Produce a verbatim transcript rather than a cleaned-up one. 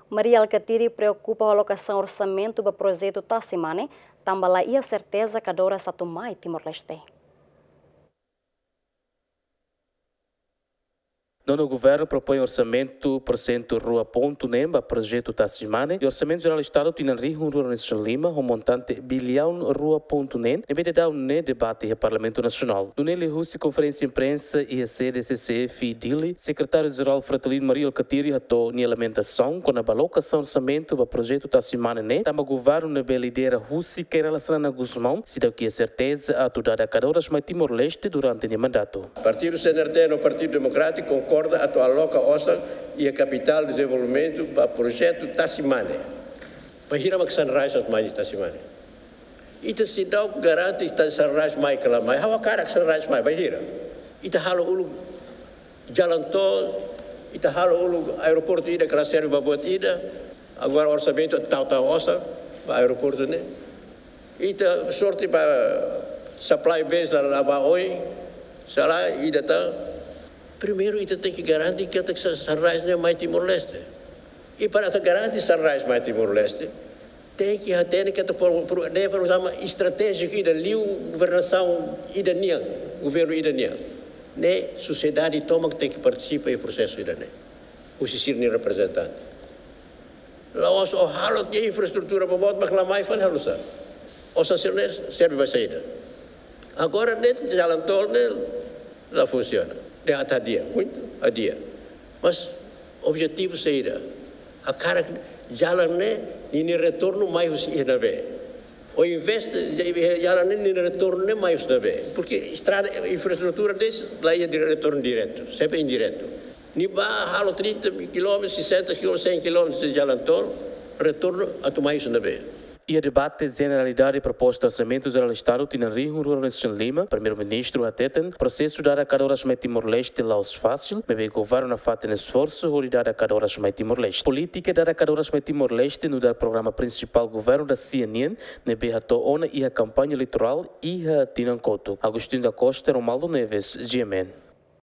Mari Alkatiri preokupa ho alokasaun orsamentu ba projetu Tasi Mane, tanba la iha serteza kadoras atu mai Timor-Leste. Nonu Governu propoin orsamentu porsentu rua pontu neen ba projetu Tasi Mane iha Orsamentu Jerál Estadu tinan rihun rua ruanulu-resin-lima ho montante biliaun rua pontu neen ne'ebé daudaun ne'e debate iha Parlamentu Nasionál. Nune'e liuhusi konferénsia imprensa iha sede C C F Dili, Sekretáriu Jerál Fretilin Mari Alkatiri hato'o nia lamentasaun kona-ba alokasaun orsamentu ba projetu Tasi Mane ne'e, tanba governu ne'ebé lidera husi Kay Rala Xanana Gusmão seidauk iha serteza atu dada kadoras mai Timor-Leste durante nia mandatu. Partidu C N R T no Partidu Demokrátiku konkorda atu aloka osan iha kapitál dezenvolvimentu ba projetu Tasi Mane. Bainhira mak Sunrise atu mai Tasi Mane? Ita seidauk garante ita Sunrise mai ka la mai. Ha'u hakarak Sunrise mai, bainhira? Ita halo uluk jalan tol, ita halo uluk aeroportu ida ka la serve ba buat ida. Agora orsamentu tau-tau osan ba aeroportu ne'e. Ita sorte ba supply base la, la ba oin, sala ida tan. Primeiru ita tenke garante katak Sa-, Sunrise ne'e mai Timor-Leste. I para atu garante Sunrise mai Timor-Leste, tenke hatene katak pro-, pro-, ne'e programa estratéjiku ida liu governasaun ida nian, governu ida nian. Ne'e sosiedade tomak tenke partisipa iha prosesu ida-ne'e. Husi sira-nia reprezentante. La'ós ó halo tiha infraestrutura boboot mak la mai fali halo sá? Osan sira-ne'e serve ba saida? Agora ne'e jalan tol ne'e la funsiona. Ne'e atu adia, muitu adia. Mas objetivu saida? Hakarak jalan ne'e ninia retornu mai husi iha ne'ebé? Ó investe, jalan ne'e ninia retornu ne'e mai husi ne'ebé? Porque estrada, infraestrutura de'it la iha dire-, retornu diretu, sempre indiretu. Nia bá halo trinta kilómetros, sessenta kilómetros, cem kilómetros de jalan tol, retornu atu mai husi ne'ebé? Iha debate jeneralidade proposta Orsamentu Jerál Estadu tinan rihun rua ruanulu-resin-lima, Primeiru-Ministru hateten, prosesu dada kadoras mai Timor-Leste la'ós fasil, maibé governu nafatin esforsu hodi dada kadoras mai Timor-Leste. Polítika dada kadoras mai Timor-Leste nu'udar programa prinsipál governu da-sia nian, ne'ebé hato'o ona iha kampaña eleitorál iha tinan kotuk. Agostinho da Costa, Romualdo Neves, G M N.